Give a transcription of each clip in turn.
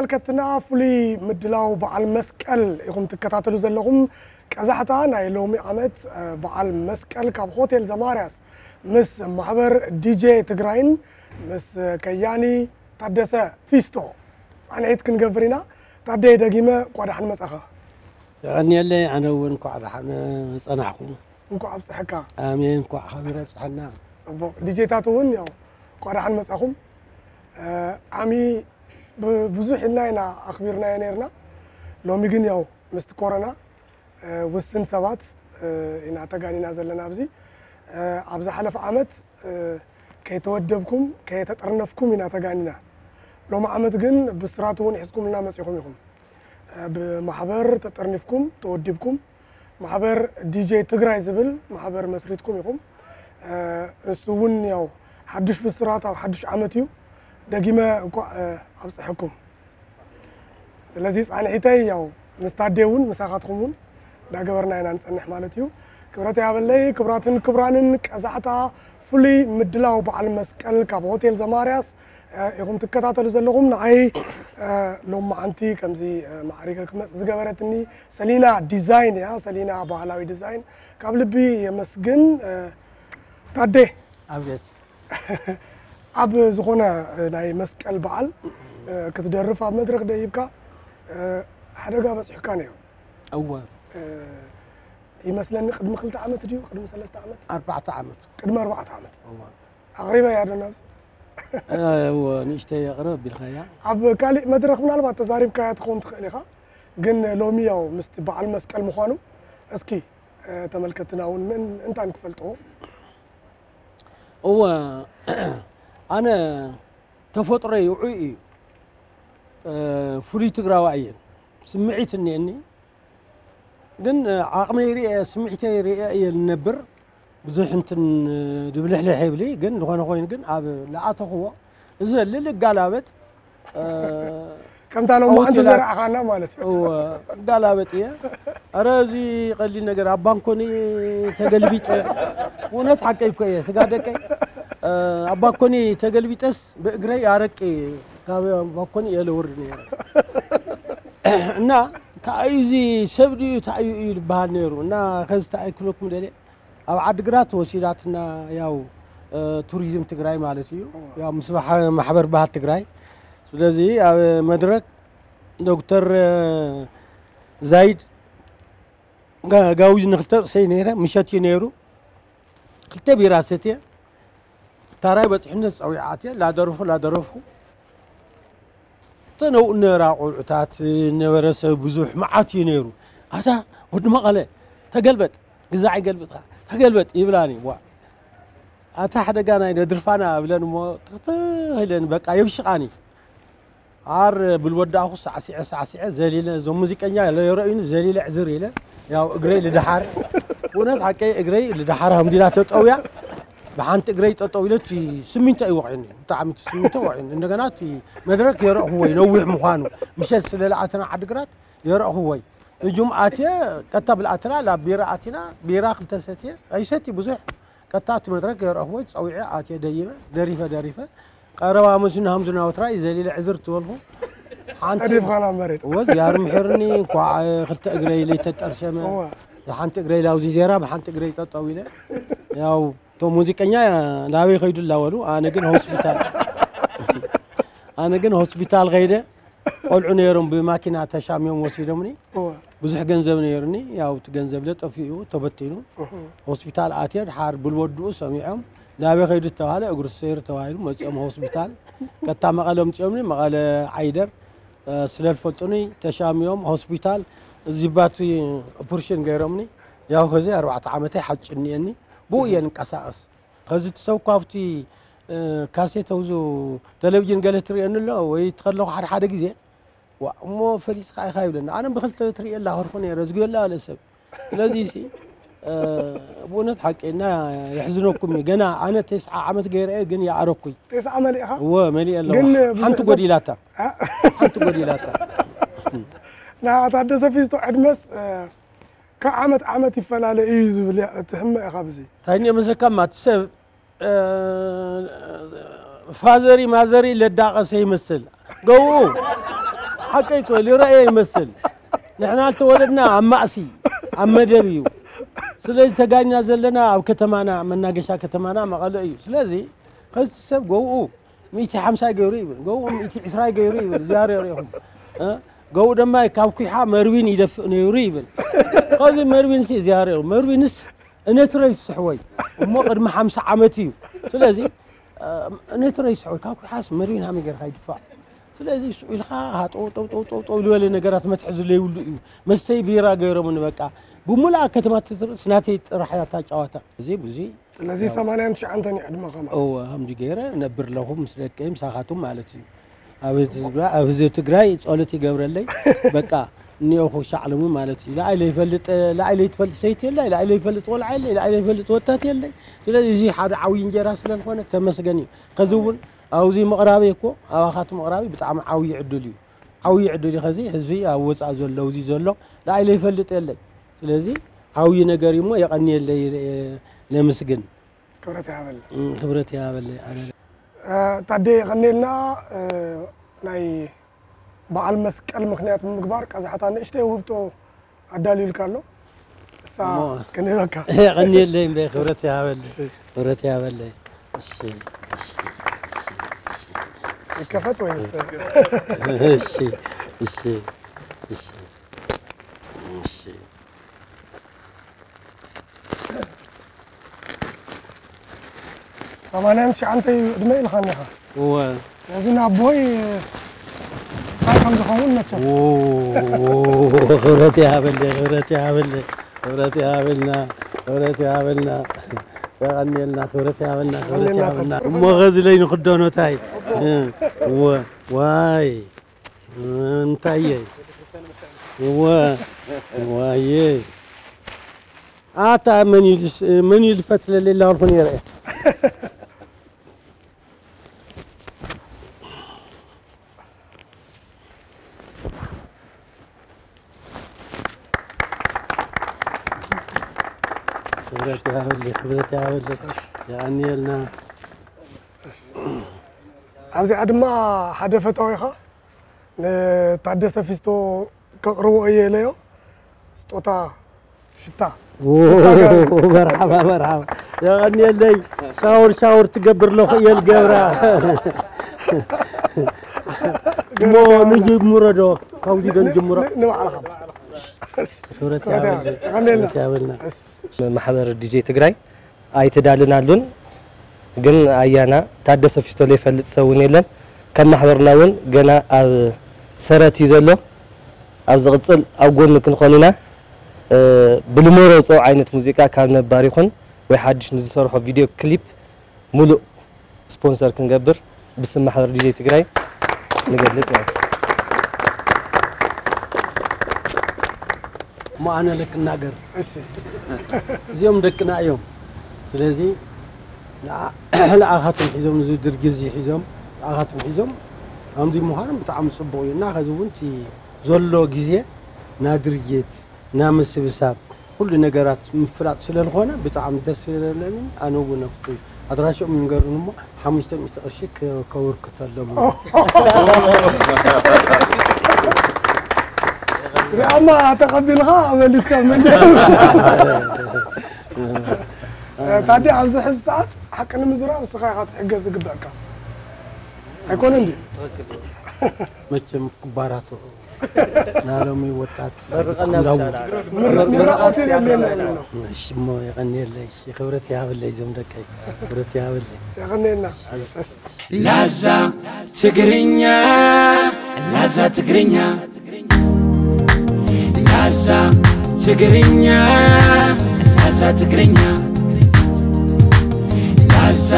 ተመልከትና፣ ፍሉይ ምድላው በዓል መስቀል ኢኹም ትከታተሉ ዘለኹም። ቀዛሕታ ናይ ሎሚ ዓመት በዓል መስቀል ካብ ሆቴል ዘማርያስ ምስ ማሕበር ዲጄ ትግራይን ምስ ከያኒ ታደሰ ፊስቶ ፃንሒት ክንገብር ኢና። ታደይ፣ ደጊመ እንኳዕ ደሓን መጻኻ። የቐንየለይ። ኣነ እውን እንኳዕ ደሓን ጸናሕኩ። እንኳዕ ኣብጽሐካ። ኣሜን። እንኳዕ ሓቢሩ ኣብጽሐና። ጽቡቕ። ዲጄታት እውን ያው እንኳዕ ደሓን መጻኹም። ዓሚ ብዙሕ ኢልና ኢና ኣኽቢርናዮ ነይርና። ሎሚ ግን ያው ምስቲ ኮሮና ውስን ሰባት ኢና ተጋኒና ዘለና ኣብዚ። ኣብ ዝሓለፈ ዓመት ከይተወደብኩም ከየተጠርነፍኩም ኢና ተጋኒና። ሎሚ ዓመት ግን ብስራት እውን ሒዝኩምልና መጺኹም ኢኹም። ብማሕበር ተጠርኒፍኩም ተወዲብኩም ማሕበር ዲጄ ትግራይ ዝብል ማሕበር መስሪትኩም ኢኹም። ንሱ እውን ያው ሓዱሽ ብስራት ኣብ ሓዱሽ ዓመት እዩ። ደጊመ እንኳዕ ኣብፀሐኩም። ስለዚ ፃንሒተይ ያው ምስ ታዴ እውን ምሳኻትኩም እውን እንዳገበርና ኢና ንፀንሕ ማለት እዩ። ክብረት ያበለይ። ክብራትን ክብራንን ቀዛሕታ ፍሉይ ምድላው በዓል መስቀል ካብ ሆቴል ዘማርያስ ኢኹም ትከታተሉ ዘለኹም። ንዓይ ሎም መዓንቲ ከምዚ ማዕሪገ ክመፅ ዝገበረትኒ ሰሊና ዲዛይን እያ። ሰሊና ባህላዊ ዲዛይን ካብ ልቢ የመስግን። ታዴ ኣብየት ኣብ ዝኾነ ናይ መስቀል በዓል ክትደርፍ ኣብ መድረኽ ደይብካ ሓደጋ በፂሑካ ነይሩ። እወ ይመስለኒ ቅድሚ ክልተ ዓመት ድዩ ቅድሚ ሰለስተ ዓመት? ኣርባዕተ ዓመት። ቅድሚ ኣርባዕተ ዓመት። እወ ኣቕሪበያ ዶ ናብዚ? እወ ንእሽተይ ኣቕርብ ኣቢልካያ። ኣብ ካሊእ መድረኽ ምናልባት ተዛሪብካያ ትኸውን ትኽእል ኢኻ። ግን ሎሚ ያው ምስቲ በዓል መስቀል ምዃኑ እስኪ ተመልከትና እውን ምን እንታን ክፈልጥዎ። እወ ኣነ ተፈጥሮይ ውዑይ እዩ። ፍሉይ ትግራዋይ እየን። ስምዒት እኒአኒ። ግን ዓቕመይ ርእየ ስምዒተይ ርእየ እየ ዝነብር። ብዙሕ እንትን ድብልሕልሕ የብሊ። ግን ዝኾነ ኮይኑ ግን ኣብ ለኣተኽዎ እዘልል እጋላበጥ ከምታ ሎማዓንቲ ዘርኣኻና ማለት እዩ። እወ እጋላበጥ እየ። ኣረ እዚ ቀሊል ነገር ኣብ ባንኮኒ ተገልቢጠ እውነት ሓቀይ እኮ እየ ስጋ ደቀይ ኣብ ባንኮኒ ተገልቢጠስ ብእግረይ ኣረቂ ካብ ባንኮኒ እየ ለወርድ ነይረ እና ታዩ እዚ ሰብ ድዩ ታዩ እዩ ዝበሃል ነይሩ እና ከዚ ታዩ ክብለኩም ደልየ ኣብ ዓድግራት ወሲዳትና ያው ቱሪዝም ትግራይ ማለት እዩ። ያው ምስ ማሕበር ባህል ትግራይ ስለዚ ኣብ መድረክ ዶክተር ዛይድ ጋውጅ ንክልተ ርእሰይ ነይረ ምሸት እዩ ነይሩ ክልተ ቢራ ሰትየ ታራይ በፂሑነት ፀዊዓት እየ ላደረፉ ላደረፉ ተነው ነራ ቆልዑታት ነበረ ሰብ ብዙሕ መዓት እዩ ነይሩ ኣታ ወዲ መቐለ ተገልበጥ ግዛዕ ይገልብጥካ ተገልበጥ ይብላኒ ዋ ኣታ ሓደጋ ናይ ነድርፋና ብለን እሞ ትኽትህ ኢለን በቃ የብሽቓኒ ዓር ብልወዳእኹ ሳዕሲዐ ሳዕሲዐ ዘሊለ እዞም ሙዚቀኛ የረእዩኒ ዘሊለ ዕዝር ኢለ ያው እግረይ ልደሓር እውነት ሓቀይ እግረይ ልደሓር ሃምዲላ ተጠውያ ብሓንቲ እግረይ ጠጠው ኢለ እቲ ስሚንቶ ይወቕዕኒ ብጣዕሚ እቲ ስሚንቶ ወቕዕኒ እንደገና እቲ መድረክ የረእኽዎ እዩ ነዊሕ ምዃኑ ምሸት ስለለኣተና ዓድግራት የረእኽዎ እዩ እጁም ኣትየ ቀታ ብልኣትና ላብ ቢራ ኣቲና ቢራ ክልተ ሰትየ ኣይሰቲ ብዙሕ ቀታ እቲ መድረክ የረእኽዎ እዩ ጸዊዐ ኣትየ ደይበ ደሪፈ ደሪፈ ቀረባ መሲና ሃምዝና ወትራ እዩ ዘሊለ ዕዝር ትበልኹ ሓንቲ ተዲፍኻና መሬት ወዝ ያር ምሕርኒ እንኳዕ ክልተ እግረይ ለይተጠርሸመ እወ። ዝሓንቲ እግረይ ላውዚ ዜራ ብሓንቲ እግረይ ጠጠው ኢለ ያው እቶም ሙዚቀኛ ናበይ ከይዱ ላበሉ ኣነ ግን ሆስፒታል ኣነ ግን ሆስፒታል ከይደ ቆልዑ ነይሮም ብማኪና ተሻሚዮም ወሲዶምኒ እወ። ብዙሕ ገንዘብ ነይሩኒ ያው እቲ ገንዘብ ለ ጠፊኡ ተበቲኑ እህ። ሆስፒታል ኣትየ ድሓር ብልወድኡ ሰሚዖም ናበይ ከይዱ ተባሃለ እግሩ ሰይሩ ተባሂሉ መፂኦም ሆስፒታል ቀጥታ መቐለ ኣምፂኦምኒ መቐለ ዓይደር ስለዝፈልጡኒ ተሻሚዮም ሆስፒታል እዚባቱ ኦፕሬሽን ገይሮምኒ ያው ከዚ ኣርባዕተ ዓመተይ ሓጭ እኒአኒ ብኡ እየ ንቀሳቀስ ከዚ እቲ ሰብ እኳ ኣብቲ ካሴት ኣውዙ ቴሌቪዥን ገለ ትርእየኒ ኣሎ ወይ ትኸለኹ ሓደ ሓደ ግዜ ዋ እሞ ፈሊጥካ ኢኻ ይብለኒ ኣነ ብክልተ ትርእየላ ከርኩ ነይረ ዝግዮላ ኣለ ሰብ ስለዚ ሲ ብእውነት ሓቂ እና የሕዝነኩም እዩ ገና ኣነ ተስዓ ዓመት ገይረ እየ ግን ይኣረኩይ ተስዓ መሊእኻ እወ መሊእ ኣለኹ ግን ብዙሕ ሓንቲ ሰብ- ጎዲላታ እ? ሓንቲ ጎዲላታ ንኣታ ደሰፊስቶ ዕድመስ ካብ ዓመት ዓመት ይፈላለ እዩ ዝብል እያ ትሕመ ኢኻ ብዚ እንታይ እኒኦ መስለካ ማቲ ሰብ ፋዘሪ ማዘሪ ለዳቀሰ ይመስል ገው ሓቀይ እኮ ልረእየ ይመስል። ንሕና ዝተወለድና ኣብ ማእሲ ኣብ መደብ እዩ። ስለዚ ተጋኛ ዘለና ኣብ ከተማና፣ መናገሻ ከተማና መቐለ እዩ። ስለዚ ከዚ ሰብ ገብኡ ሚእቲ ሓምሳ ገይሩ ይብል፣ ገብኡ ሚእቲ ዕስራ ገይሩ ይብል። ዚያር ሪኹም ገብኡ ድማ ካብ ኩሓ መርዊን ይደፍእ ነይሩ ይብል። ከዚ መርዊን ሲ ዚያር መርዊንስ እነትረይ ስሕወይ እሞ ቅድሚ ሓምሳ ዓመት እዩ። ስለዚ እነትረይ ስሕወይ ካብ ኩሓስ መርዊን ሃመ ገርካ ይድፋእ። ስለዚ ስዑ ኢልካ ሃጠው ጠው ጠው ጠው ጠው ዝበለ ነገራት መትሐዚ ዘይብሉ እዩ። መስተይ ቢራ ገይሮምኒ በቃ። ብሙሉኣ ከተማ ትትርስ ናተይ ጥራሕ እያ እታ ጨዋታ። እዚ ብዙ ስለዚ ሰማንያን ትሽዓንተን እዩ ዕድመኻ ማለት እዩ። እወ፣ ከምዚ ገይረ ነብር ኣለኹ ምስ ደቀይ ምሳኻቱም ማለት እዩ። ኣብ ህዝቢ ትግራይ፣ ኣብ ህዝቢ ትግራይ ጸሎት ይገብረለይ። በቃ እኒኦኹ ሻዕለሙ ማለት እዩ። ለኣይ ለይፈልጥ፣ ለኣይ ለይትፈልጥ ሰይቲ የለይ፣ ለኣይ ለይፈልጥ ቆልዓ የለይ፣ ለኣይ ለይፈልጥ ወታት የለይ። ስለዚ እዚ ሓደ ዓብዪ እንጀራ ስለ ዝኾነ ተመስገን እዩ። ከዚ እውን ኣብዚ ምቕራበይ እኮ ኣባኻት ምቕራበይ ብጣዕሚ ዓብዪ ዕድል እዩ። ዓብዪ ዕድል እዩ። ከዚ ህዝቢ ኣብ ወፃእ ዘሎ ኣብዚ ዘሎ ንዓይ ዘይፈልጥ የለይ። ስለዚ ዓብዪ ነገር እዩ እሞ የቐንየለይ፣ ነምስግን። ክብረት ይሃበልና። እም፣ ክብረት ይሃበለይ። ኣነ እ፣ ታዴ የቐንየልና። እ፣ ናይ በዓል መስቀል ምኽንያት ብምግባር ቀዛሕታ ንእሽተይ ውህብቶ ኣዳልዩልካ ኣሎ። እሳ እሞ ክንህበካ። የቐንየለይ እምበይ፣ ክብረት ይሃበለይ። ክብረት ይሃበለይ። እሺ፣ እሺ፣ እሺ፣ እሺ። ይከፈት ወይስ? እሺ፣ እሺ፣ እሺ፣ እሺ። ሰማንያን ትሽዓተ እዩ ዕድመ ኢልካኒ ኢኻ። እወ። ስለዚ ንኣቦይ እንታይ ከም ዝኸውን መቸም። ኦ፣ ክብረት ይሃበለይ፣ ክብረት ይሃበለይ፣ ክብረት ይሃበልና፣ ክብረት ይሃበልና። የቐንየልና፣ ክብረት ይሃበልና፣ ክብረት የቐንየልና። ይሃበልና። እሞ ኸዚ ለይ ንኽደኖ ታይ? እ፣ እወ፣ ዋይ። እንታይ እየ? እወ፣ ዋየ። ኣታ መን እዩ ዝስ-፣ መን እዩ ዝፈትለለይ? ላልኩ ነይረ። ክብረት ይሃበለይ፣ ክብረት ይሃበለይ። የቐንየልና። ኣብዚኣ ድማ ሓደ ፈታዊኻ ንታደሰ ፊስቶ ከቕርቦ እየ ኢለዮ። ስጦታ ሽታ። ኦ፣ መርሓባ፣ መርሓባ። የቐንየለይ። ሻወር፣ ሻወር ትገብር ኣለኹ እየ ልገብራ። እሞ ንጅምሮ ዶ? ካብዚ ዶ ንጅምሮ? ን-፣ ንባዕልኻ። ክብረት ክብረት ያበል። ያበል። የቐንየልና። ክብረት ያበልና። እሺ። ማሕበር ዲጄ ትግራይ ኣይተዳልናሉን፣ ግን ኣያና ታደሰ ፊስቶ ዘይፈልጥ ሰብ እውን የለን። ከም ማሕበርና እውን ገና ኣብ ሰረት እዩ ዘሎ። ኣብ ዝቕጽል ኣብ ጎኑ ክንኾን ኢና። እ፣ ብልመረጾ ዓይነት ሙዚቃ ካብ ነባር ይኹን ወይ ሓድሽ ንዝሰርሖ ቪድዮ ክሊፕ ሙሉእ ስፖንሰር ክንገብር ብስም ማሕበር ዲጄ ትግራይ ንገልጽ ማለት እዩ። እሞ ኣነ ልክናገር። እሺ። እዚኦም ደቅና እዮም። ስለዚ ንዓ-፣ ንዓኻትኩም ሒዞም፣ እዚ ድርጊት እዚ ሒዞም፣ ንዓኻትኩም ሒዞም፣ ከምዚ ምዃኖም ብጣዕሚ ጽቡቕ እዩ። እና ከዚ እውን እቲ ዘሎ ግዜ ና ድርጊት፣ ና ምስብሳብ፣ ኩሉ ነገራት ምፍላጥ ስለ ዝኾነ ብጣዕሚ ደስ ስለለኒ፣ ኣነ እውን ኣብቲ ኣድራሽኦም ይንገሩን እሞ ሓሙሽተ ሚእቲ ቅርሺ ከ-፣ ከበርክተሎም። ሪኣማ ተቐቢልኻ መሊስካ መሊስ። ታዲያ ኣብዚ ሕዚ ሰዓት ሓቂ ንምዝራብ ንስኻ ኢኻ ክትሕገዝ ዝግበእካ። ኣይኮነን ድዩ? መቸም ክባራቱ ናሎሚ ወጣት መርቐና ብጣዕሚ ብቻ። ላውጥ። ምር-፣ ምርቓት የድልየና እዩ። እሺ እሞ የቐንየለይ። እሺ ክብረት ይሃበለይ እዞም ደቀይ። ክብረት ይሃበለይ። የቐንየልና። እሺ። ላዛ ትግርኛ፣ ላዛ ትግርኛ፣ ላዛ ትግርኛ፣ ላዛ ትግርኛ፣ ላዛ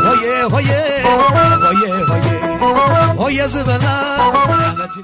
ሆየ ሆየ ሆየ ሆየ ሆየ ዝበላ ዓመት